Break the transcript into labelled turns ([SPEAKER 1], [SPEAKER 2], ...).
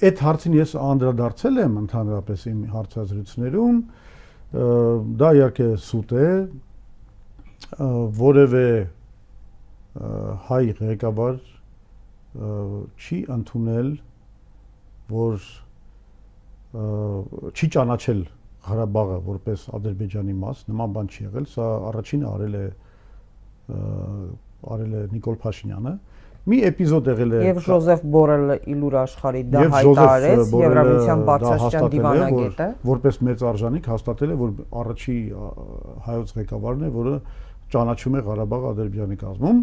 [SPEAKER 1] այդ հարցին ես անդրադարձել եմ ընդհանրապես իմ հարցազրույցներում, դա իհարկե սուտ է, որևէ հայ ղեկավար չի ընդունել, որ չի ճանաչել Ղարաբաղը որպես Ադրբեջանի մաս, նման բան չի եղել, սա առաջինը արել է Նիկոլ Փաշինյանը, մի էպիզոդ եղել է
[SPEAKER 2] եւ Ժոզեֆ Բորելը Իլուր Աշխարհի դա հայտարարեց Եվրամիության բարձրաստիճան դիվանագետը,
[SPEAKER 1] որպես մեծ արժանիք հաստատել է, որ առաջի հայոց ղեկավարն է, որը ճանաչում է Ղարաբաղը Ադրբեջանի կազմում,